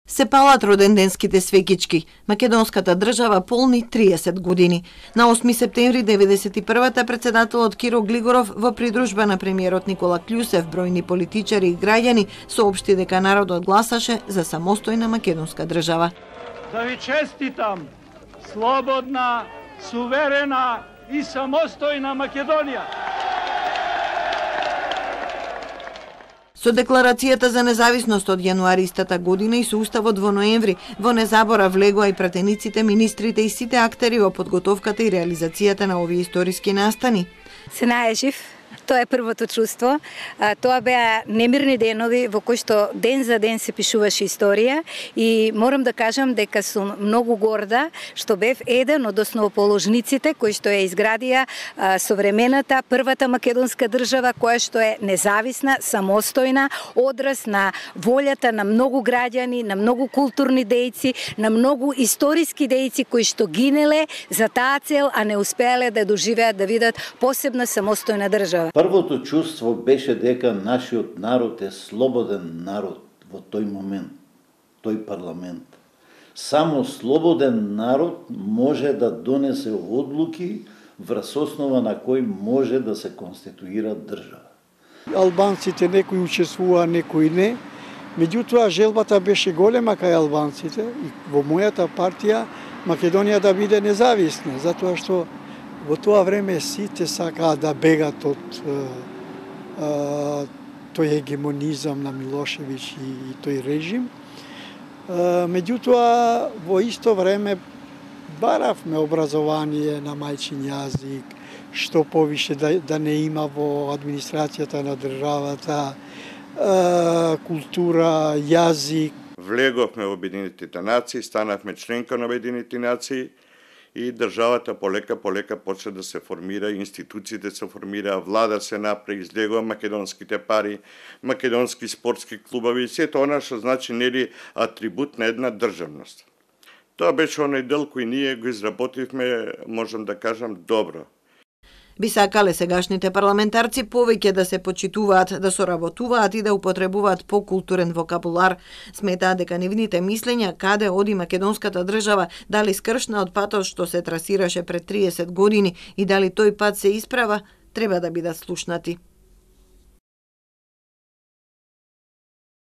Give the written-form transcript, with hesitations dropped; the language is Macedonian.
Се палат роденденските свеќички. Македонската држава полни 30 години. На 8 септември 1991 председателот Киро Глигоров во придружба на премиерот Никола Клјусев, бројни политичари и граѓани соопшти дека народот гласаше за самостојна македонска држава. Да ви честитам слободна, суверена и самостојна Македонија. Со декларацијата за независност од јануари истата година и со уставот во ноември, во незаборав влегоа и пратениците, министрите и сите актери во подготовката и реализацијата на овие историски настани. Се најжив. Тоа е првото чувство. Тоа беа немирни денови во кои што ден за ден се пишуваше историја и морам да кажам дека сум многу горда што бев еден од основоположниците кои што ја изградија современата првата македонска држава која што е независна, самостојна, одраз на волјата на многу граѓани, на многу културни дејци, на многу историски дејци кои што гинеле за таа цел, а не успеале да доживеат да видат посебна самостојна држава. Првото чувство беше дека нашиот народ е слободен народ во тој момент, тој парламент. Само слободен народ може да донесе одлуки врз основа на кој може да се конституира држава. Албанците некои учествуваа, некои не. Меѓутоа желбата беше голема кај албанците и во мојата партија Македонија да биде независна, затоа што во тоа време сите сакаа да бегат од тој егемонизам на Милошевиќ и тој режим. Меѓутоа, во исто време баравме образование на мајчин јазик, што повише да не има во администрацијата на државата, култура, јазик. Влеговме во Обединетите нации, станавме членка на Обединетите нации, и државата полека почна да се формира, институциите се формира, влада се направи, излегува македонските пари, македонски спортски клубови, сето она што значи нели атрибут на една државност. Тоа беше оној дел кој ние го изработивме, можам да кажам, добро. Би сакале сегашните парламентарци повеќе да се почитуваат, да соработуваат и да употребуваат покултурен вокабулар. Сметаат дека нивните мислења каде оди македонската држава, дали скршна од патот што се трасираше пред 30 години и дали тој пат се исправа, треба да бидат слушнати.